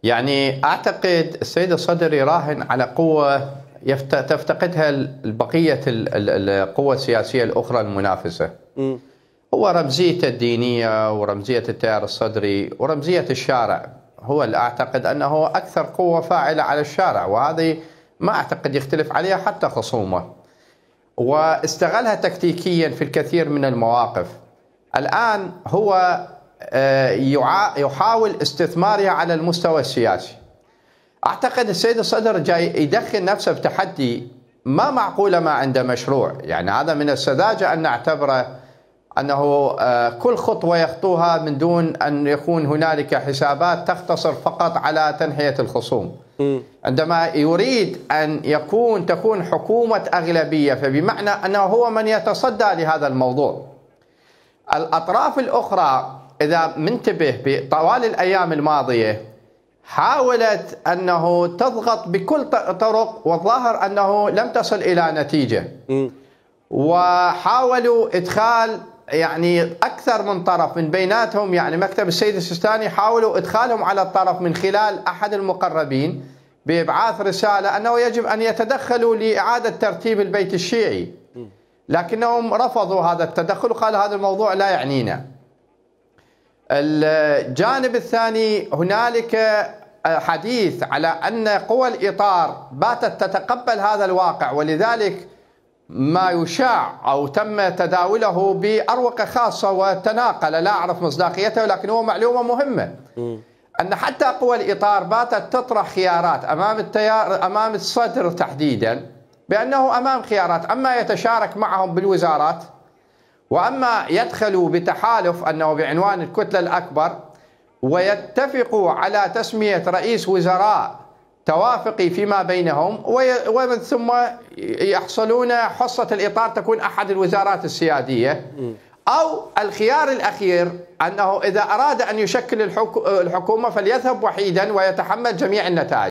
يعني أعتقد السيد الصدر يراهن على قوة تفتقدها بقية القوى السياسية الأخرى المنافسة. هو رمزيته الدينية ورمزية التيار الصدري ورمزية الشارع، هو اللي أعتقد أنه أكثر قوة فاعلة على الشارع، وهذه ما أعتقد يختلف عليها حتى خصومه، واستغلها تكتيكيا في الكثير من المواقف. الآن هو يحاول استثمارها على المستوى السياسي. أعتقد السيد الصدر جاي يدخل نفسه بتحدي ما معقولة ما عنده مشروع. يعني هذا من السذاجة أن نعتبره أنه كل خطوة يخطوها من دون أن يكون هنالك حسابات تقتصر فقط على تنحية الخصوم. عندما يريد أن تكون حكومة أغلبية، فبمعنى أنه هو من يتصدى لهذا الموضوع. الأطراف الأخرى إذا منتبه بطوال الأيام الماضية حاولت أنه تضغط بكل طرق، والظاهر أنه لم تصل إلى نتيجة. وحاولوا إدخال يعني أكثر من طرف من بيناتهم، يعني مكتب السيد السيستاني حاولوا إدخالهم على الطرف من خلال أحد المقربين بإبعاث رسالة أنه يجب أن يتدخلوا لإعادة ترتيب البيت الشيعي، لكنهم رفضوا هذا التدخل وقالوا هذا الموضوع لا يعنينا. الجانب الثاني هنالك حديث على أن قوى الإطار باتت تتقبل هذا الواقع، ولذلك ما يشاع أو تم تداوله بأروقة خاصة وتناقل، لا أعرف مصداقيته، ولكن هو معلومة مهمة أن حتى قوى الإطار باتت تطرح خيارات أمام التيار، أمام الصدر تحديدا، بأنه أمام خيارات: أما يتشارك معهم بالوزارات، وأما يدخلوا بتحالف أنه بعنوان الكتلة الأكبر ويتفقوا على تسمية رئيس وزراء توافقي فيما بينهم، ومن ثم يحصلون حصة الإطار تكون أحد الوزارات السيادية. أو الخيار الأخير أنه إذا أراد أن يشكل الحكومة فليذهب وحيدا ويتحمل جميع النتائج.